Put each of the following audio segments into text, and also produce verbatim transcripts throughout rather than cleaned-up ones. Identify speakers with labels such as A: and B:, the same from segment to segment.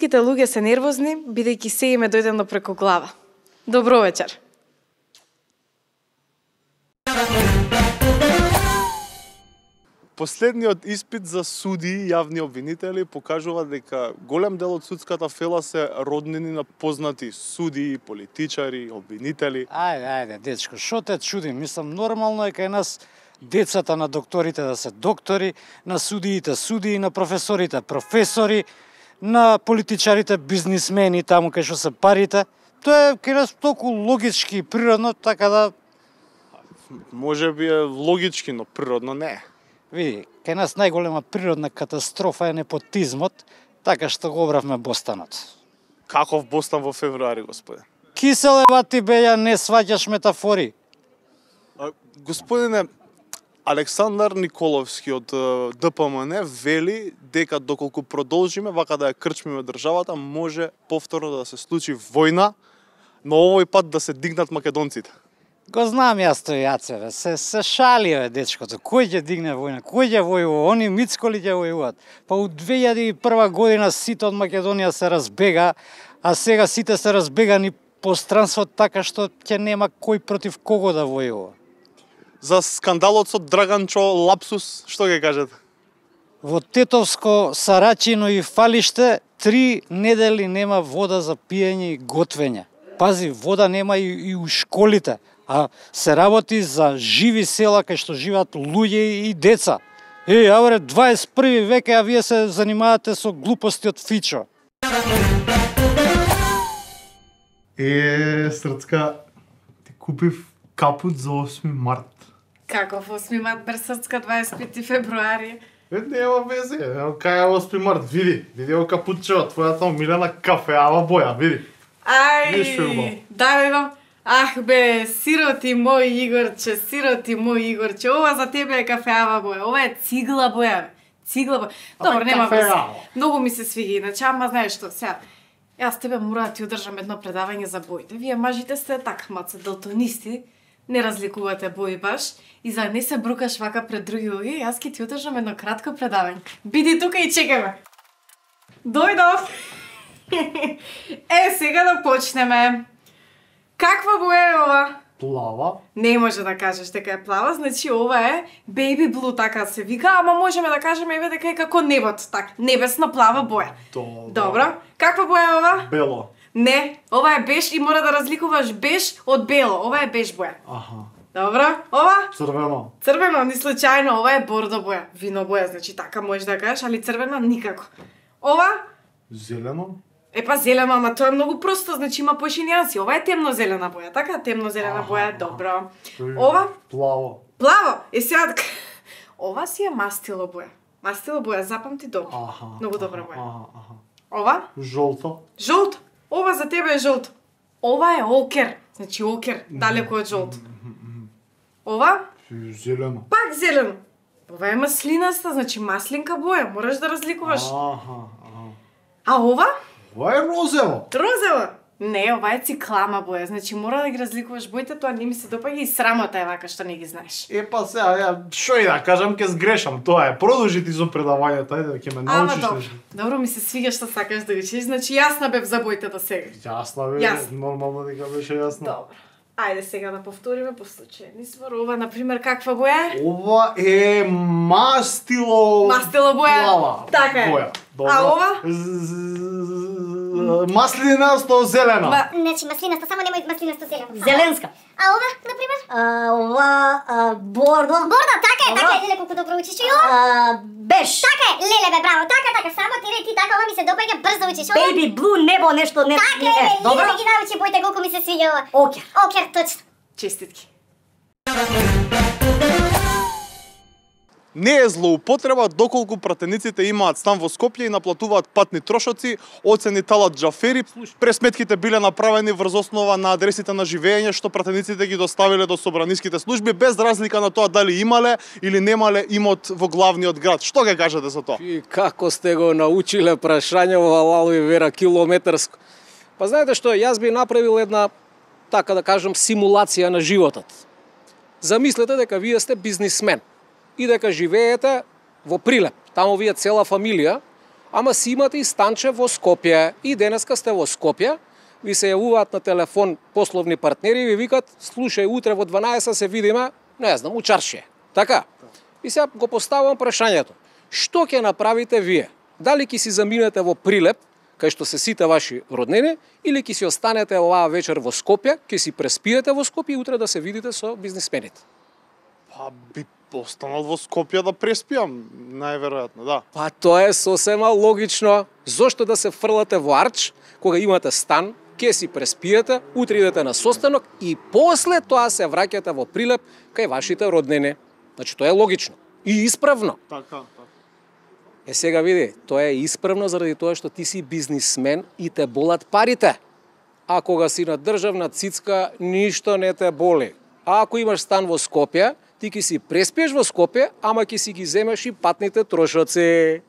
A: Сите луѓе се нервозни, бидејќи се им е дојдено преку глава. Добро вечер.
B: Последниот испит за судии и јавни обвинители покажува дека голем дел од судската фела се роднини на познати судии, политичари, обвинители.
C: Ајде, ајде, дечко, шо те чуди? Мислам, нормално е кај нас децата на докторите да се доктори, на судиите судии, на професорите професори, на политичарите бизнисмени, таму кај што се парите. Тоа е кај нас толку логички и природно, така да...
B: Може би е логички, но природно не е.
C: Види, кај нас најголема природна катастрофа е непотизмот, така што го обравме Бостанот.
B: Каков Бостан во февруари, господе?
C: Кисел е вати беја, не сваќаш метафори.
B: А, господине, Александар Николовски од Д П М Н вели дека доколку продолжиме вака да ја крчмиме државата, може повторно да се случи војна, но овој пат да се дигнат македонците.
C: Го знам јас тој Јацеве, се, се шали е дечкото. Кој ќе дигне војна? Кој ќе војува? Они мицколи ќе војуваат. Па у две илјади и прва година сите од Македонија се разбега, а сега сите се разбегани по странствот така што ќе нема кој против кого да војува.
B: За скандалот со Драганчо лапсус, што ќе кажете?
C: Во Тетовско, Сарачино и Фалиште три недели нема вода за пиење и готвење. Пази, вода нема и, и у школите, а се работи за живи села кај што живеат луѓе и деца. Е, авре, дваесет и први век, а вие се занимавате со глупости од Фичо.
D: Е, Срцка, ти купив капут за осми март.
A: Каков осми март, бер Срцка, дваесет и пети февруари?
D: Е, нема везе, кај е осми март, види, види о капутче, твојата омилена кафеава боја, види.
A: Ај, да бе, ах бе, сироти мој Игорче, сироти мој Игорче, ова за тебе е кафеава боја, ова е цигла боја, цигла боја. Добро, нема везе. Многу ми се свига иначе, ама знаеш што, сега, јас тебе мора да ти одржам едно предавање за боите. Вие мажите сте така маце далтонисти, не разликувате бои баш, и за не се брукаш вака пред други луѓе, јас ќе ти одржам едно кратко предавање. Биди тука и чекај ме. Дојдов. Е, сега да почнеме. Каква боја е ова?
D: Плава.
A: Не може да кажеш дека е плава, значи ова е baby blue, така се вика, ама можеме да кажеме еве дека е како небото, така, небесно плава боја.
D: Добро.
A: Добро. Каква боја е ова?
D: Бело.
A: Не, ова е беж и мора да разликуваш беж од бело. Ова е беж боја.
D: Аха.
A: Добро. Ова?
D: Црвено.
A: Црвено, ни случајно, ова е бордо боја. Вино боја, значи така можеш да кажеш, али црвено никако. Ова?
D: Зелено.
A: Епа зелено, ама тоа е многу просто, значи има поише нијанси. Ова е темно-зелена боја, така? Темно-зелена боја, добро. Ова?
D: Плаво.
A: Плаво. Е сега, ова си е мастило боја. Мастило боја, запамти добро.
D: Аха.
A: Многу добра боја.
D: Аха, аха.
A: Ова?
D: Жолто.
A: Жолто. Ова за тебе е жолто. Ова е окер, значи окер, далеко од жолто. Ова?
D: Зелено.
A: Пак зелено. Ова е маслинаста, значи маслинка боја, мораш да разликуваш.
D: Аха, аха.
A: А ова?
D: Ова е розево.
A: Розево. Не, ова е циклама боја, значи мора да ги разликуваш боите, тоа не ми се допаѓа и срамота е вака што не ги знаеш.
D: Е, па сега, ја, шо и да кажам, ке сгрешам, тоа е. Продолжи ти со предавањето, ајде, ќе ме
A: Ама
D: научиш
A: добро,
D: нешто.
A: добро ми се свига што сакаш да учиш, значи јасна бев за боите до сега.
D: Јасна бе,
A: Јасно.
D: нормално дека беше јасно.
A: Добро. Ајде сега да повториме по случајен избор. Ова, например, каква боја е?
D: Ова е мастило...
A: Мастило боја.
D: Плава.
A: Така е.
D: Боја. Добро.
A: А ова?
D: Маслинасто зелено.
A: Ма-
E: Значи маслинасто, само немој маслинасто зелено.
F: Зеленска.
E: А ова, например?
F: А, ова а, бордо.
E: Бордо, така е,
F: Добро.
E: така е, леле колку добро учиш. И ова?
F: А, беш.
E: Така е, леле бе, браво, така, така, само ти ре, ти така, ова ми се допаѓа, брзо учиш. Ова?
F: Baby blue, небо, нешто не.
E: Така е,
F: не,
E: бе,
F: добро.
E: иде да ги научи боите, колку ми се свиѓа ова.
F: Окер.
E: Окер, точно.
A: Честитки.
B: Не е злоупотреба доколку пратениците имаат стан во Скопје и наплатуваат патни трошоци, оцени Талат Џафери. Пресметките биле направени врз основа на адресите на живење што пратениците ги доставиле до собраниските служби без разлика на тоа дали имале или немале имот во главниот град. Што ќе кажете за тоа?
G: И како сте го научиле прашање во Лало и Вера километарско? Па знаете што, јас би направил една, така да кажам, симулација на животот. Замислете дека вие сте бизнисмен и дека живеете во Прилеп. Таму вие цела фамилија ама си имате и станче во Скопје. И денеска сте во Скопје, ви се јавуваат на телефон пословни партнери и ви викат, слушај, утре во дванаесет се видиме, не знам, у чаршија. Така? И сега го поставувам прашањето. Што ќе направите вие? Дали ќе си заминете во Прилеп, кај што се сите ваши роднини, или ќе си останете оваа вечер во Скопје, ќе си преспиете во Скопје и утре да се видите со бизнисмените?
B: Па би останал во Скопје да преспиам, најверојатно, да.
G: Па тоа е сосема логично. Зошто да се фрлате во Арч, кога имате стан, ќе си преспиете, утре идете на состанок и после тоа се враќате во Прилеп кај вашите роднини. Значи тоа е логично и исправно.
B: Така, така.
G: Е сега види, тоа е исправно заради тоа што ти си бизнисмен и те болат парите. А кога си на државна цицка, ништо не те боли. А ако имаш стан во Скопје, ти ќе си преспиеш во Скопје, ама ќе си ги земеш и патните трошоци.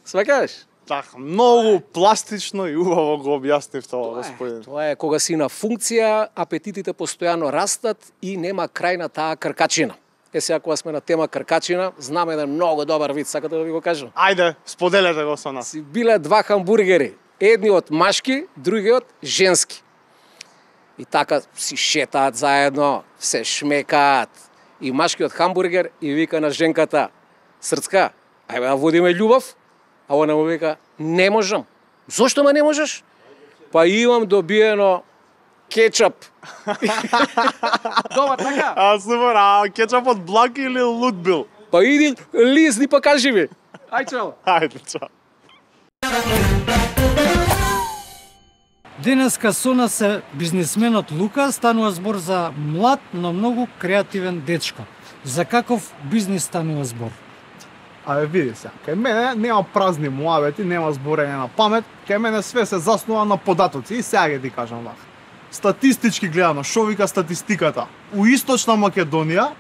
G: Сваќаш?
B: Така, многу пластично и убаво го објаснив тоа, господин.
G: Тоа е кога си на функција, апетитите постојано растат и нема крај на таа кркачина. Е сега кога сме на тема кркачина, знам еден многу добар вид, сакате да ви го кажам?
B: Ајде, споделете го со нас.
G: Си биле два хамбургери, едниот машки, другиот женски. И така си шетаат заедно, се шмекаат. И машкиот хамбургер и вика на женката, Срцка, ајде да водиме љубов? А она му вика, не можам. Зошто ма не можеш? Па имам добиено кетчап. Добар, така?
B: А, супер, а кетчапот блак или лут бил?
G: Па иди, лизни па кажи ми. Ај чао.
B: Ајде, чао.
C: Денеска со нас е бизнисменот Лука, станува збор за млад, но многу креативен дечко. За каков бизнис станува збор?
D: Абе, види се, кај мене нема празни муабети, нема зборење на памет, кај мене све се заснува на податоци и сега ќе ти кажам вака. Статистички гледано, шо вика статистиката? У Источна Македонија,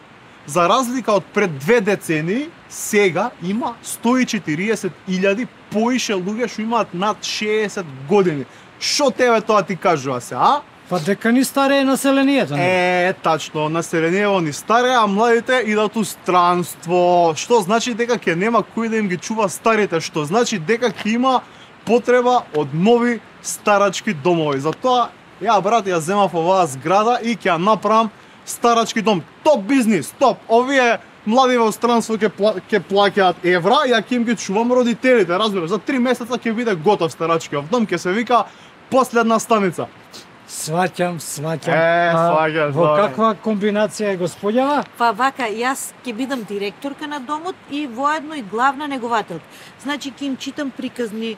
D: за разлика од пред две децении, сега има сто и четириесет илјади поише луѓе што имаат над шеесет години. Шо тебе тоа ти кажува се, а?
C: Па дека ни старее населението, не?
D: Е, тачно, населението ни старе, а младите идат у странство. Што значи дека ќе нема кој да им ги чува старите, што значи дека ќе има потреба од нови старачки домови. Затоа ја брат ја земав оваа зграда и ќе ја направам старачки дом. Топ бизнис, топ. Овие млади во странство ќе пла, ќе плаќаат евра, ја ќе им ги чувам родителите, разбираш. За три месеца ќе биде готов старачкиот дом, ќе се вика последна станица.
C: Сваќам, сваќам.
D: Е, сваќаш,
C: Во
D: добре.
C: каква комбинација е господјава?
H: Па вака, јас ќе бидам директорка на домот и воедно и главна негователка. Значи ќе им читам приказни е,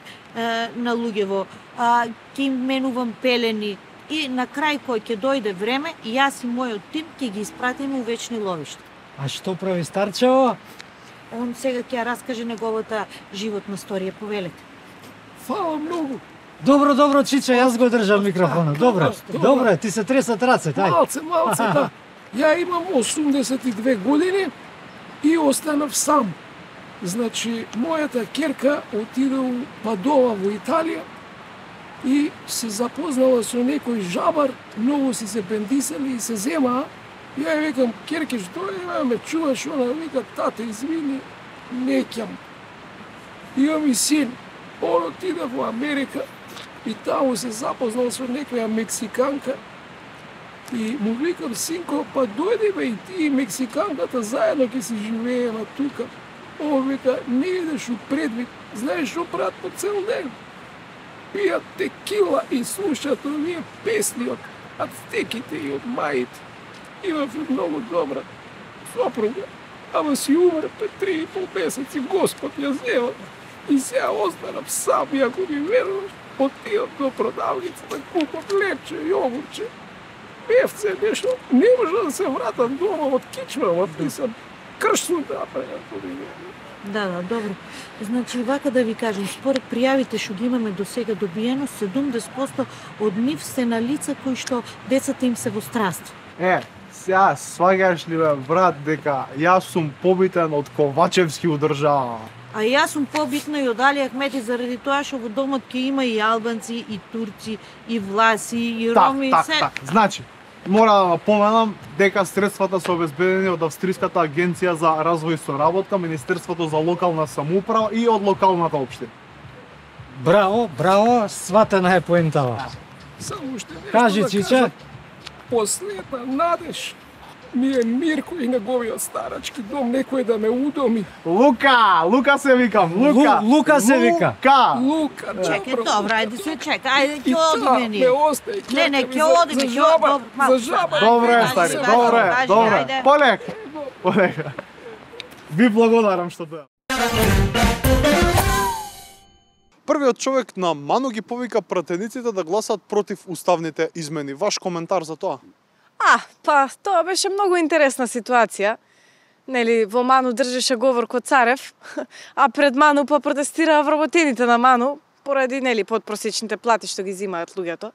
H: на луѓево, а, ќе им менувам пелени и на крај кој ќе дојде време, јас и мојот тим ќе ги испратиме у вечни ловишта.
C: А што прави старчево?
H: Он сега ќе ја раскаже неговата животна сторија, повелете.
I: Фала многу.
C: Добро, добро, Чиче, јас го држам микрофонот. Добро, добро, ти се тресат рацете, ај.
I: Малце, малце, да. Ја имам осумдесет и две години и останав сам. Значи, мојата керка отиде у Падова во Италија и се запознала со некој жабар, многу си се бендисали и се земаа. Ја ја викам, керке, што е, ме чуваш, она вика, тате, извини, не ќам. Имам и син, он отиде во Америка и таму се запознал со некоја мексиканка и му викам, синко, па дојди бе и ти и мексиканката заедно ќе си живееме тука. Он вика, не идеш у предвид, знаеш што прават по цел ден? Пијат текила и слушаат овие песни од ацтеките и од маите. Имав и многу добра сопруга, ама си умре пред три и пол месеци, Господ ја зема. И сега останав сам, и ако ми веруваш, отидам до продавницата, купам лепче, јогурче, певце, нешто, не може да се вратам дома од кичма, од писам кршно да направам, ако ми веруваш.
H: Да, да, добро. Значи, вака да ви кажем, според пријавите што ги имаме до сега добиено, седумдесет проценти од нив се на лица кои што децата им се во странство.
D: Е, сега сваѓаш ли бе, брат, дека јас сум побитен од Ковачевски у држава.
H: А јас сум побитна и од Али Ахмети заради тоа што во домот ќе има и албанци, и турци, и власи, и роми,
D: так,
H: се...
D: так, так. Значи, мора да напоменам дека средствата се обезбедени од Австриската агенција за развој и соработка, Министерството за локална самоуправа и од локалната општина.
C: Браво, браво, сватена е поентава.
I: Само уште нешто
C: Кажи,
I: да
C: Чиче.
I: кажам. Последна надеж ми е Мирко и неговиот старачки дом, некој да ме удоми.
D: Лука, Лука се викам, Лука.
C: Лу- Лука се вика.
D: Лука.
I: Лука,
H: Чекај,
I: добро.
H: добро, ајде се чека. Ајде
I: И
H: ќе одиме
I: таа ме
H: ние.
I: остај.
H: Не, не,
I: чекај,
H: ќе
I: за-
H: одиме,
I: за
H: ќе
I: жаба,
H: одиме. Малку
I: За жаба.
H: само.
D: Добре,
H: Ајде,
D: стари,
H: ајде,
D: добре,
H: ајде,
D: добре.
H: ајде.
D: Полек, полек. Ви благодарам што доја.
B: Првиот човек на Ману ги повика пратениците да гласат против уставните измени. Ваш коментар за тоа?
A: А, па, тоа беше многу интересна ситуација. Нели, во Ману држеше говор ко Царев, а пред Ману па протестираа вработените на Ману, поради, нели, подпросечните плати што ги зимаат луѓето.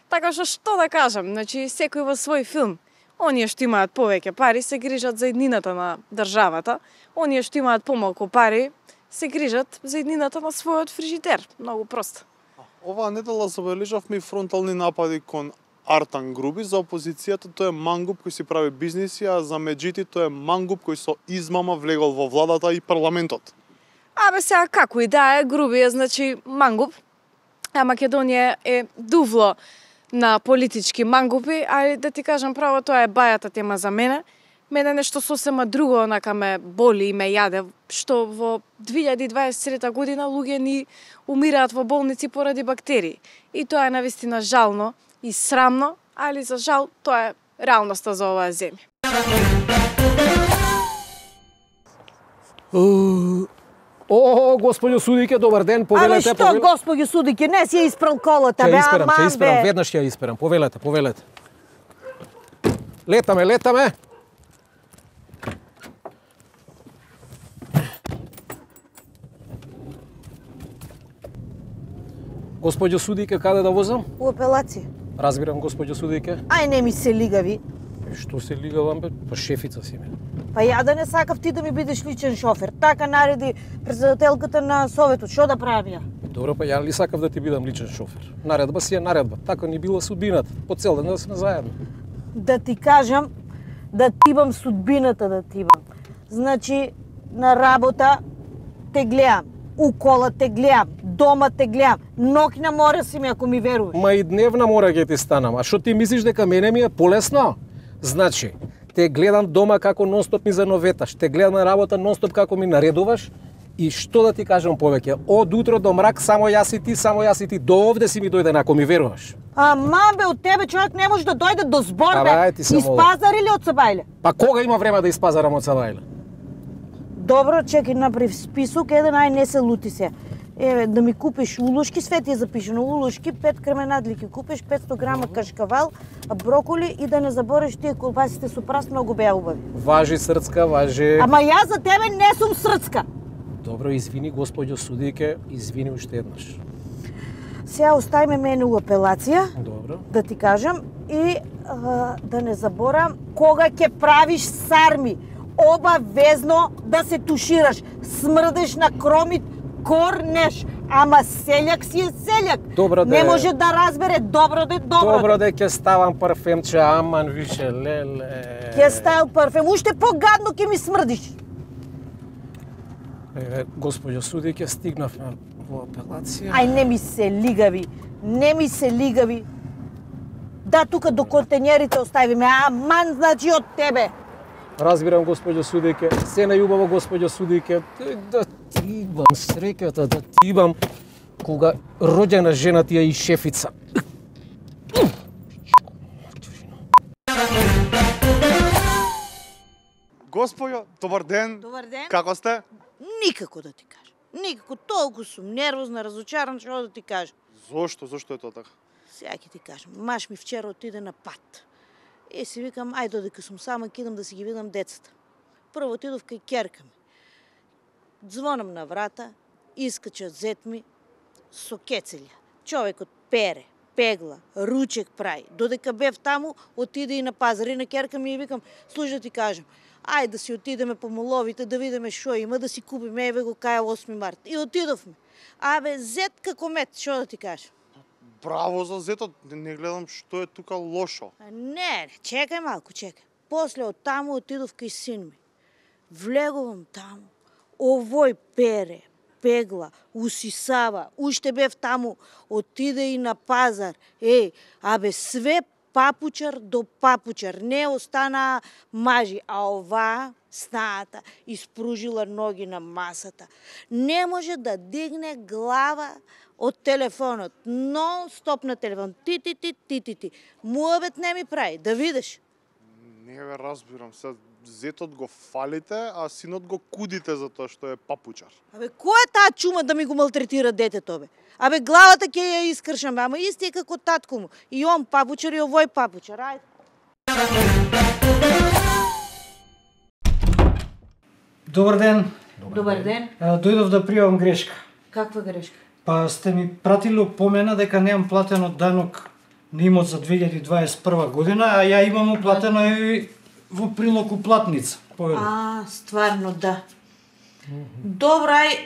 A: Така што, што да кажам, значи, секој во свој филм. Оние што имаат повеќе пари се грижат за еднината на државата, оние што имаат помалку пари се грижат за еднината на својот фрижидер. Многу просто.
B: Оваа недела забележавме и фронтални напади кон Артан Груби. За опозицијата тој е мангуп кој си прави бизниси, а за меджити тој е мангуп кој со измама влегол во владата и парламентот.
A: Абе сега како и да е, Груби е значи мангуп, а Македонија е дувло на политички мангупи, а да ти кажам право, тоа е бајата тема за мене. Мене нешто сосема друго онака ме боли и ме јаде, што во две илјади и дваесет и трета година луѓе ни умираат во болници поради бактерии. И тоа е навистина жално и срамно, али за жал тоа е реалноста за оваа земја.
G: О, господјо судике, добар ден,
F: Абе
G: повелете,
F: што,
G: повелете.
F: господи судике, не си ја испрал колата,
G: Ќе
F: бе,
G: исперам, ќе
F: аман,
G: исперам,
F: бе.
G: веднаш ќе ја исперам, повелете, повелете. Летаме, летаме. Господјо судике, каде да возам?
F: У апелација.
G: Разбирам, господјо судике.
F: Ај, не ми се лигави.
G: Што се лигавам, бе? Па шефица си ме.
F: Па ја да не сакав ти да ми бидеш личен шофер. Така нареди председателката на советот. Што да правам ја?
G: Добро, па ја ли сакав да ти бидам личен шофер? Наредба си е наредба. Така ни била судбината. По цел ден да сме заедно.
F: Да ти кажам, да тибам судбината да тибам. Значи, на работа те гледам, у кола те гледам, дома те гледам, ноќна мора си ми ако ми веруваш.
G: Ма и дневна мора ќе ти станам. А што ти мислиш дека мене ми е полесно? Значи, те гледам дома како нонстоп ми зановеташ, те гледам на работа нонстоп како ми наредуваш и што да ти кажам повеќе, од утро до мрак само јас и ти, само јас и ти, до овде си ми дојден ако ми веруваш.
F: А мамбе, од тебе човек не може да дојде до збор,
G: Абе,
F: бе.
G: ајде ти се
F: Из
G: молам.
F: пазар или од Сабајле?
G: Па кога има време да испазарам од Сабајле?
F: Добро, чекай, направи список, еден, ај не се лути се. Еве, да ми купиш улушки, све ти е запишено, улушки, пет кременадли ќе купиш, петсто грама кашкавал, броколи и да не забориш тие колбасите со прас, многу беа убави.
G: Важи срцка, важи...
F: Ама јас за тебе не сум срцка.
G: Добро, извини, господјо судике, извини уште еднаш.
F: Сега оставиме мене у апелација,
G: Добро.
F: да ти кажам, и а, да не заборам, кога ќе правиш сарми, обавезно да се тушираш. Смрдеш на кромит, корнеш, ама селјак си е селјак.
G: Добро де.
F: Не може да разбере, добро де, добро,
G: Добро
F: де.
G: де ќе ставам парфемче, аман више, леле.
F: Ќе стајал парфем, уште погадно ќе ми смрдиш.
G: Еве, господјо судике, стигнав на во апелација.
F: Ај, не ми се лигави, не ми се лигави. Да, тука до контењерите оставиме, аман, значи од тебе.
G: Разбирам, господјо судике, се најубаво, господјо судике, да ти имам среќата, да ти имам кога роѓена жена ти е и шефица.
B: Господјо, добар ден.
F: Добар ден.
B: Како сте?
F: Никако да ти кажам. Никако, толку сум нервозна, разочаран, што да ти кажам.
B: Зошто? Зошто е тоа така?
F: Сега ќе ти кажам, маш ми вчера отиде на пат. И си викам, ај додека сум сама, кидам да си ги видам децата. Прво отидов кај ќерка ми. Звонам на врата, искача зет ми со кецелја. Човекот пере, пегла, ручек прави. Додека бев таму, отиде и на пазар и на ќерка ми и викам, слушай да ти кажам, ај да си отидеме по моловите, да видиме што има, да си купиме, еве го кај осми март. И отидовме. Абе, зет како мет, што да ти кажам?
B: Браво за зетот, не гледам што е тука лошо.
F: А, Не, не, чекај малку, чекај. После од таму отидов кај син ми. Влегувам таму, овој пере, пегла, усисава, уште бев таму, отиде и на пазар. Е, абе, све папучар до папучар, не остана мажи, а ова снаата испружила ноги на масата. Не може да дигне глава од телефонот, нон-стоп на телефон, ти, ти, ти, ти, ти, ти. Муабет не ми прави, да видиш.
B: Не бе, разбирам се. Зетот го фалите, а синот го кудите за тоа што е папучар.
F: Абе, кој е таа чума да ми го малтретира детето, бе? Абе, главата ќе ја искршам, ама исти е како татко му. И он папучар и овој папучар, ајде.
C: Добар ден.
H: Добар ден.
C: А, дојдов да пријавам грешка.
H: Каква грешка?
C: Па сте ми пратили опомена дека немам платено данок на имот за две илјади дваесет и прва година, а ја имам уплатено и во прилог уплатница. Повели.
H: А, стварно, да. Добра, ај,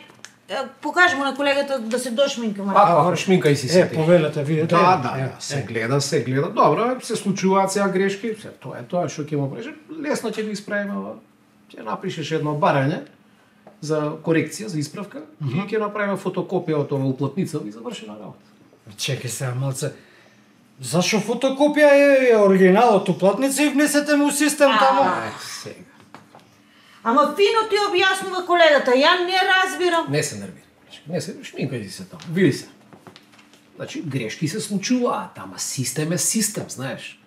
H: покажи му на колегата да се дошминка.
G: А, шминкај си се.
C: Е, повелете, видите.
G: Да, да, се гледа, се гледа. Добро, се случуваат сега грешки, се тоа е тоа што ќе му преше. Лесно ќе ги исправиме. Ќе напишеш едно барање за корекција, за исправка, mm -hmm. и ќе направиме фотокопија од оваа уплатница и завршена работа.
C: Чекај сега малце. Зашо фотокопија е оригиналот уплатница и внесете му систем таму?
G: Ај, сега.
H: Ама фино ти објаснува колегата, ја не разбирам.
G: Не се нервира. Не се, шминкај си се таму. Види се. Значи, грешки се случуваат, ама систем е систем, знаеш.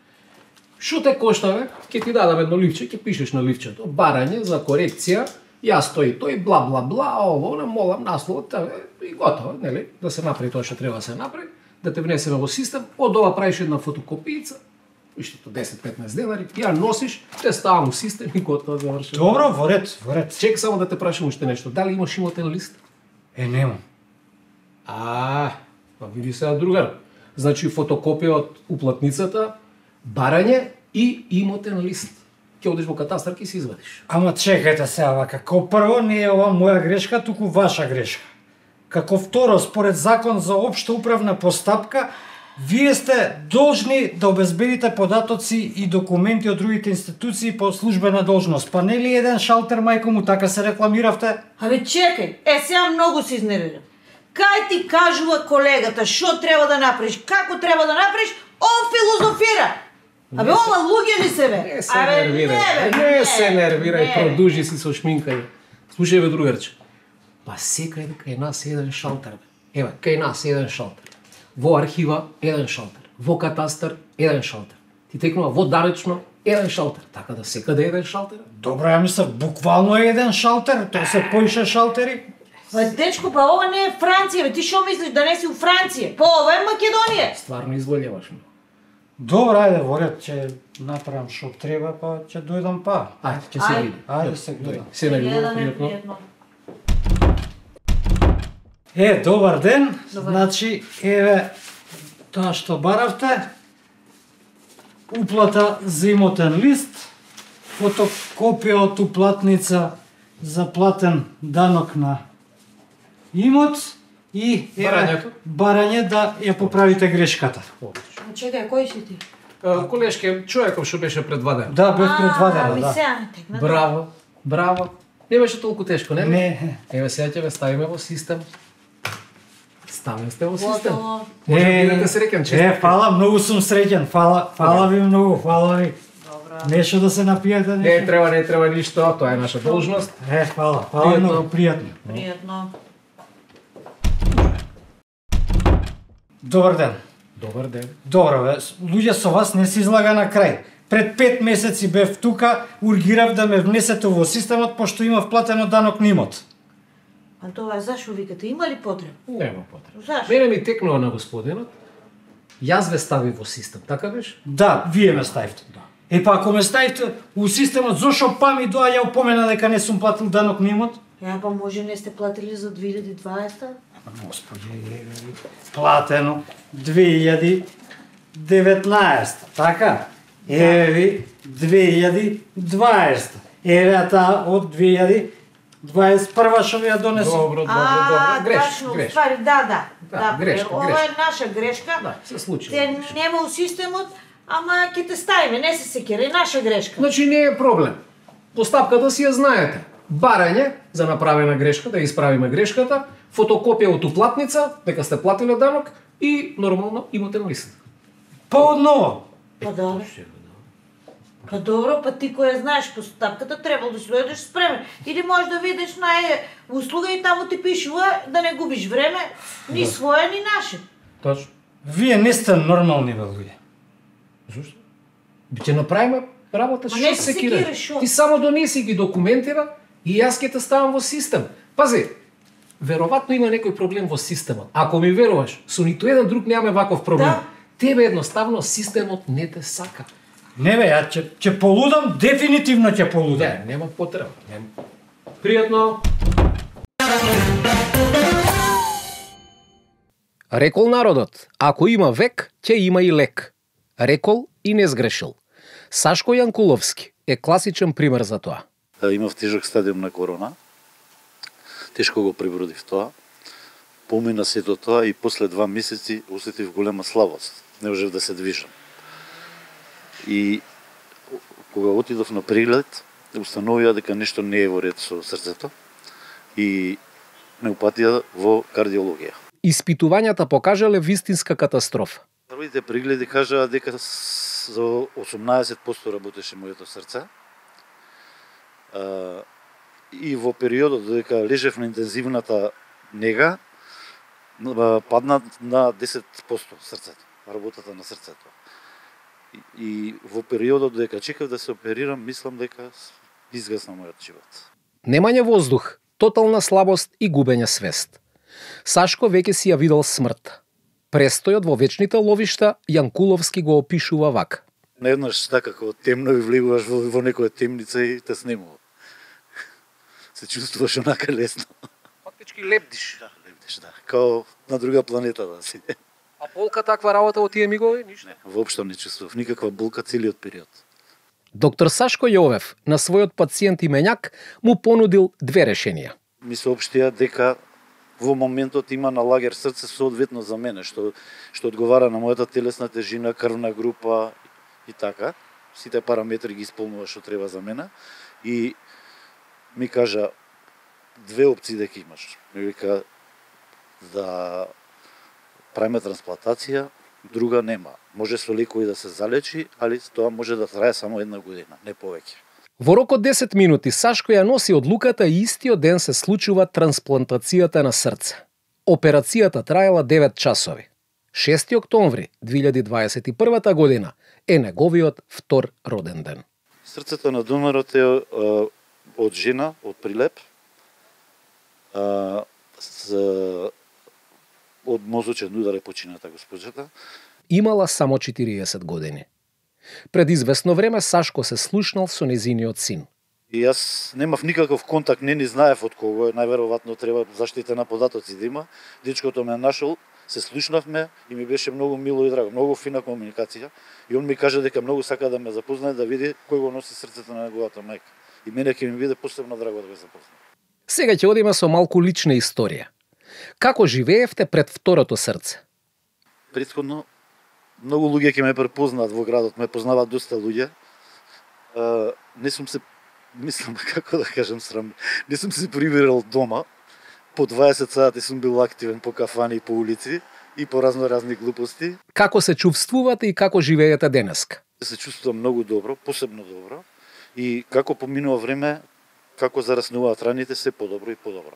G: Шо те кошта, бе? Ќе ти дадам едно ливче, ќе пишеш на ливчето. Барање за корекција, јас тој тој, бла бла бла, ово, не молам насловот, и готово, нели? Да се направи тоа што треба да се направи, да те внесеме во систем, од ова правиш една фотокопијица, иштото десет-петнаесет денари, ја носиш, те ставам у систем и готово завршено.
C: Добро, во ред, во ред.
G: Чек само да те прашам уште нешто. Дали имаш имотен лист?
C: Е, немам.
G: А, па види сега другар. Значи фотокопија од уплатницата, барање и имотен лист. Ќе одиш во катастар и си извадиш.
C: Ама чекајте сега вака, како прво не е ова моја грешка, туку ваша грешка. Како второ, според закон за општа управна постапка, вие сте должни да обезбедите податоци и документи од другите институции по службена должност. Па нели еден шалтер, мајко му, така се рекламиравте?
H: Абе чекај, е сега многу се изнервирам. Кај ти кажува колегата што треба да направиш, како треба да направиш, он филозофира. Абе, ова луѓе ли се бе?
G: Не се нервирај, не, не се нервирај, продужи си со шминкање. Слушај бе, другарче, па секаде кај нас еден шалтер бе. Еве, кај нас еден шалтер. Во архива еден шалтер, во катастар еден шалтер. Ти текнува во данечно еден шалтер, така да секаде еден шалтер.
C: Добро, ја мислам, буквално е еден шалтер, тоа се поише шалтери.
H: Па дечко, па ова не е Франција, бе, ти што мислиш да не си у Франција? Па ова е Македонија.
G: Стварно изволјаваш ме.
C: Добро, ајде, во ред, ќе направам што треба, па ќе дојдам па.
G: Ајде, ќе се види.
C: Ајде се гледам.
G: Се најдобро, пријатно.
C: Е, добар ден. Добар. Значи, еве тоа што баравте, уплата за имотен лист, фотокопија од уплатница за платен данок на имот и еве
G: барањето,
C: барање да ја поправите грешката.
H: Чекај, кој си ти?
G: Колешке, човеков што беше предваден.
C: Да, бев предваден,
H: ми
C: да.
H: сега текна.
G: Браво, браво. Не беше толку тешко, не?
C: Не.
G: Еве сега ќе ве ставиме во систем. Ставим сте во систем.
H: Готово.
G: Може да бидете среќен, честит.
C: Е, фала, многу сум среќен. Фала, фала ви многу, фала ви.
H: Добра.
C: Нешто да се напиете,
G: Не
C: нешто.
G: треба, не треба ништо, тоа е наша должност.
C: Е, фала, фала многу, пријатно.
H: Пријатно.
C: Добар ден.
G: Добар ден.
C: Добро, бе, луѓе со вас не се излага на крај. Пред пет месеци бев тука, ургирав да ме внесете во системот, пошто имав платено данок на имот.
H: А тоа зашо викате, има ли потреба?
G: Нема потреба.
H: Зашо?
G: Мене ми текнува на господинот. Јас ве стави во систем, така беше?
C: Да, вие ме ставите. Да. Е па ако ме ставите у системот, зошо па ми доаѓа опомена дека не сум платил данок на имот?
H: Ја па може не сте платили за две илјади и дваесета?
C: Господи, платено две илјади и деветнаесета, така? Еве ви две илјади и дваесета. Еве таа од две илјади и дваесет и прва што ви ја донесов.
G: Добро, добро,
H: А,
G: добро. Греш,
H: точно,
G: греш.
H: ствари, да, да.
G: Да, грешка,
H: ова
G: грешка.
H: е наша грешка.
G: Да, се случи.
H: Те нема у системот, ама ќе те ставиме, не се секира, наша грешка.
G: Значи не е проблем. Постапката си ја знаете. Барање за направена грешка, да ја исправиме грешката, фотокопија од уплатница, дека сте платиле данок и нормално имотен лист.
C: Па одново.
H: Па добро. Па добро, па ти која знаеш постапката, требало да си дојдеш спремен. Или можеш да видиш нај услуга и таму ти пишува да не губиш време, ни своја, ни наше.
G: Точно.
C: Вие не сте нормални бе луѓе.
G: Зошто? Ќе направиме работа,
H: Ма не
G: што
H: се
G: се
H: секираш,
G: кире.
H: шо?
G: Ти само донеси ги документира и јас ќе те ставам во систем. Пази, веројатно има некој проблем во системот. Ако ми веруваш, со ниту еден друг немаме ваков проблем.
H: Да.
G: Тебе едноставно системот не те сака.
C: Не бе, ја ќе ќе полудам, дефинитивно ќе полудам.
G: Не, нема потреба. Нема. Пријатно. Рекол народот, ако има век, ќе има и лек. Рекол и не сгрешил. Сашко Јанкуловски е класичен пример за тоа.
J: Имав тежок стадиум на корона. Тешко го пребродив тоа. Помина сето тоа и после два месеци осетив голема слабост. Не можев да се движам. И кога отидов на преглед, установија дека нешто не е во ред со срцето и ме упатија во кардиологија.
G: Испитувањата покажале вистинска катастрофа.
J: Првите прегледи кажаа дека за осумнаесет проценти работеше моето срце. А, и во периодот додека лежев на интензивната нега, падна на десет проценти срцето, работата на срцето. И, и во периодот додека чекав да се оперирам, мислам дека изгасна мојот живот.
G: Немање воздух, тотална слабост и губење свест. Сашко веќе си ја видел смрт. Престојот во вечните ловишта Јанкуловски го опишува вака.
J: Наеднаш така како темно и влегуваш во, во некоја темница и те снемува. Се чувствуваш онака лесно.
G: Фактички лебдиш.
J: Да, лебдиш, да. Као на друга планета да си.
G: А болка таква работа во тие мигови? Ништо.
J: Не, воопшто не чувствував никаква болка целиот период.
G: Доктор Сашко Јовев на својот пациент именјак му понудил две решенија.
J: Ми соопштија дека во моментот има на лагер срце соодветно за мене, што што одговара на мојата телесна тежина, крвна група и така. Сите параметри ги исполнува што треба за мене. И ми кажа две опции дека имаш. Ми вика да правиме трансплантација, друга нема. Може со лекови да се залечи, али тоа може да трае само една година, не повеќе.
G: Во рок од десет минути Сашко ја носи одлуката и истиот ден се случува трансплантацијата на срце. Операцијата траела девет часови. шести октомври две илјади дваесет и прва година е неговиот втор роден ден.
J: Срцето на донорот е а, од жена, од Прилеп, а, с, од мозочен удар е почината госпоđата.
G: Имала само четириесет години. Пред известно време Сашко се слушнал со незиниот син.
J: И јас немав никаков контакт, не ни знаев од кого е, најверојатно треба заштита на податоци да има. Дечкото ме нашол, се слушнавме и ми беше многу мило и драго, многу фина комуникација. И он ми кажа дека многу сака да ме запознае, да види кој го носи срцето на неговата мајка. И мене ќе ми биде посебно драго да го запознае.
G: Сега ќе одиме со малку лична историја. Како живеевте пред второто срце?
J: Претходно многу луѓе ќе ме препознаат во градот, ме познаваат доста луѓе. Uh, не сум се, мислам како да кажам срам, не сум се прибирал дома. По дваесет сати сум бил активен по кафани и по улици и по разноразни глупости.
G: Како се чувствувате и како живеете денеска?
J: Се чувствувам многу добро, посебно добро. И како поминува време, како зараснуваат раните, се подобро и подобро.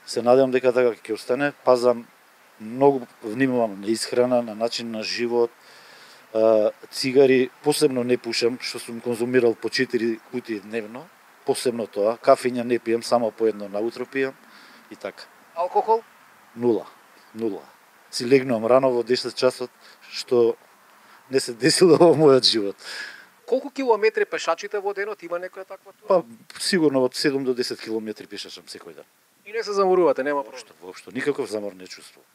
J: Се надевам дека така ќе остане, пазам многу, внимавам на исхрана, на начин на живот. Цигари посебно не пушам, што сум конзумирал по четири кутии дневно. Посебно тоа, кафења не пијам, само по едно наутро пијам и така.
G: Алкохол?
J: Нула, нула. Си легнувам рано во десет часот, што не се десило во мојот живот.
G: Колку километри пешачите во денот, има некоја таква тура?
J: Па сигурно од седум до десет километри пешачам секој ден.
G: И не се заморувате, нема прошто.
J: Воопшто, никаков замор не чувствувам.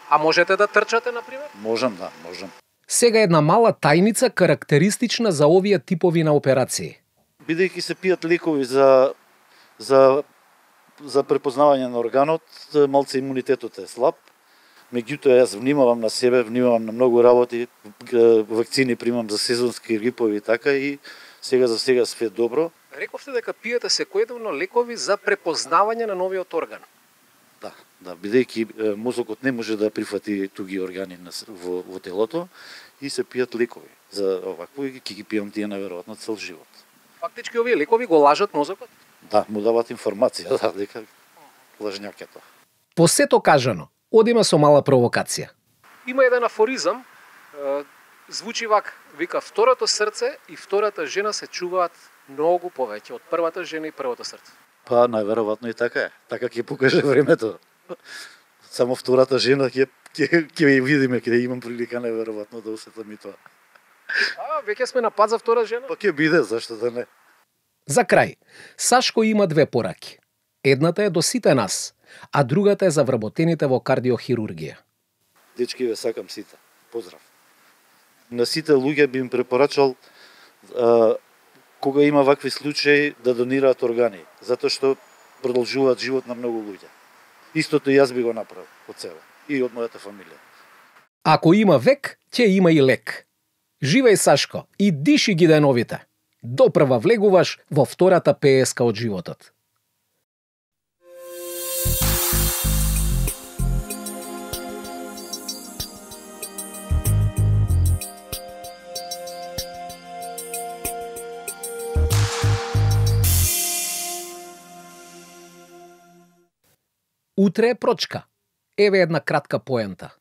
G: А можете да трчате, например?
J: Можам, да, можам.
G: Сега една мала тајница карактеристична за овие типови на операции.
J: Бидејќи се пијат лекови за за за препознавање на органот, малце имунитетот е слаб. Меѓутоа јас внимавам на себе, внимавам на многу работи, вакцини примам за сезонски грипови и така и сега за сега све добро.
G: Рековте дека пиете секојдневно лекови за препознавање на новиот орган.
J: Да. Да, бидејќи мозокот не може да прифати туги органи во, во телото и се пијат лекови. За овакво и ќе ги пијам тие наверојатно цел живот.
G: Фактички овие лекови го лажат мозокот?
J: Да, му дават информација, да, дека лажњак е тоа.
G: По сето кажано, одиме со мала провокација. Има еден афоризам, звучи вак, вика второто срце и втората жена се чуваат многу повеќе од првата жена и првото срце.
J: Па, најверојатно и така е. Така ќе покаже времето. Само втората жена ќе ќе ќе видиме, ќе имам прилика најверојатно да усетам и тоа.
G: А, веќе сме на пат за втора жена?
J: Па ќе биде, зашто да не.
G: За крај, Сашко има две пораки. Едната е до сите нас, а другата е за вработените во кардиохирургија.
J: Дечки, ве сакам сите. Поздрав. На сите луѓе би им препорачал а, кога има вакви случаи да донираат органи, затоа што продолжуваат живот на многу луѓе. Истото и јас би го направил од себе и од мојата фамилија.
G: Ако има век, ќе има и лек. Живеј, Сашко, и диши ги деновите. Допрва влегуваш во втората пееска од животот. Утре е прочка. Еве една кратка поента.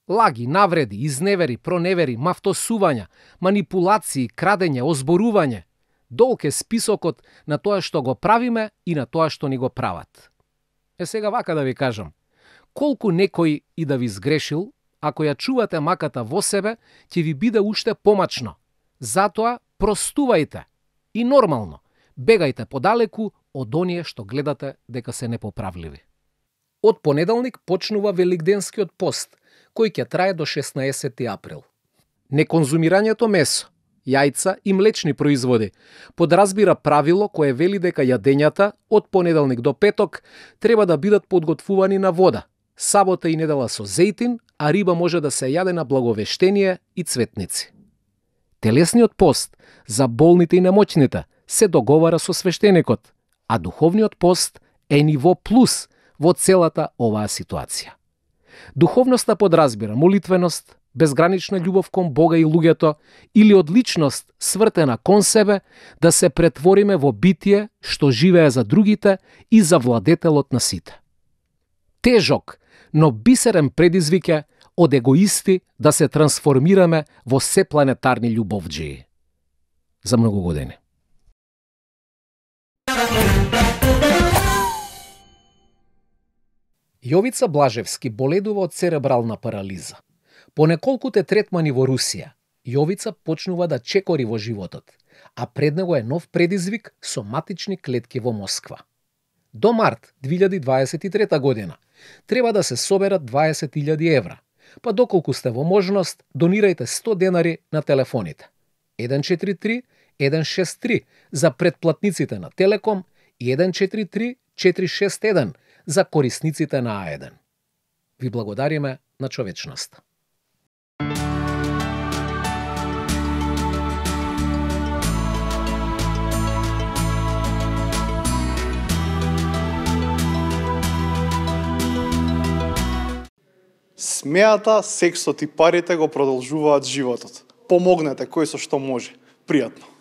G: Лаги, навреди, изневери, проневери, мафтосувања, манипулации, крадење, озборување. Долг е списокот на тоа што го правиме и на тоа што ни го прават. Е сега вака да ви кажам. Колку некој и да ви сгрешил, ако ја чувате маката во себе, ќе ви биде уште помачно. Затоа простувајте. И нормално, бегајте подалеку од оние што гледате дека се непоправливи. Од понеделник почнува Великденскиот пост, кој ќе трае до шеснаесети април. Неконзумирањето месо, јајца и млечни производи подразбира правило кое вели дека јадењата од понеделник до петок треба да бидат подготвувани на вода, сабота и недела со зејтин, а риба може да се јаде на благовештение и цветници. Телесниот пост за болните и немоќните се договара со свештеникот, а духовниот пост е ниво плюс во целата оваа ситуација. Духовноста подразбира молитвеност, безгранична љубов кон Бога и луѓето или одличност свртена кон себе да се претвориме во битие што живее за другите и за владетелот на сите. Тежок, но бисерен предизвик е од егоисти да се трансформираме во сепланетарни љубовџии. За многу години. Јовица Блажевски боледува од церебрална парализа. По неколкуте третмани во Русија, Јовица почнува да чекори во животот, а пред него е нов предизвик соматични клетки во Москва. До март две илјади дваесет и трета година треба да се соберат дваесет илјади евра, па доколку сте во можност, донирајте сто денари на телефоните. еден четири три еден шест три за претплатниците на Телеком и еден четири три четири шест еден за корисниците на А еден. Ви благодариме на човечноста.
B: Смејата, сексот и парите го продолжуваат животот. Помогнете кој со што може. Пријатно.